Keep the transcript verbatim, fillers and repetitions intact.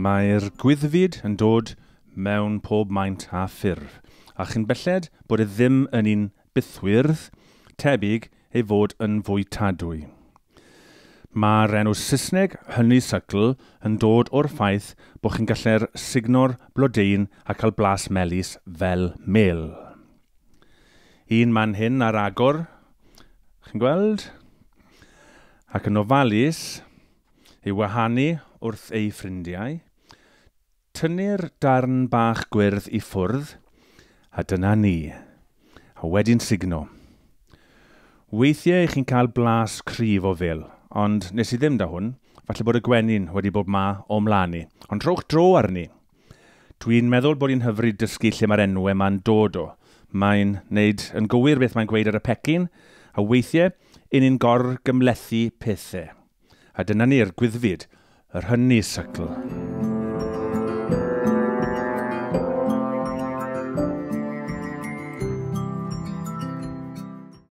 Mae'r gwyddfid yn dod mewn pob maint a ffurf, a chyn belled bod e ddim yn un bythwyrdd, tebyg ei fod yn fwytadwy. Mae'r enw Saesneg honeysuckle yn dod o'r ffaith bod chi'n gallu'r sugno'r blodeuyn a cael blas melys fel mel. Un man hyn ar agor, chi'n gweld? Ac yn ofalus, ei wahanu wrth ei ffrindiau, tynnu'r darn bach gwyrdd i ffwrdd, a dyna ni, a wedyn sugno. Weithiau chi'n cael blas cryf o fil, ond nes i ddim da hwn, falle bod y gwenyn wedi bod ma o mlaen i, ond trowch dro arni. Dwi'n meddwl bod hi'n hyfryd dysgu lle mae'r enwau ma'n dod o. Mae'n neud yn gywir beth mae'n gweud ar y pecyn, a weithiau, un ni'n gorgymhlethu pethau. A dyna ni'r gwyddfid, yr honeysuckle.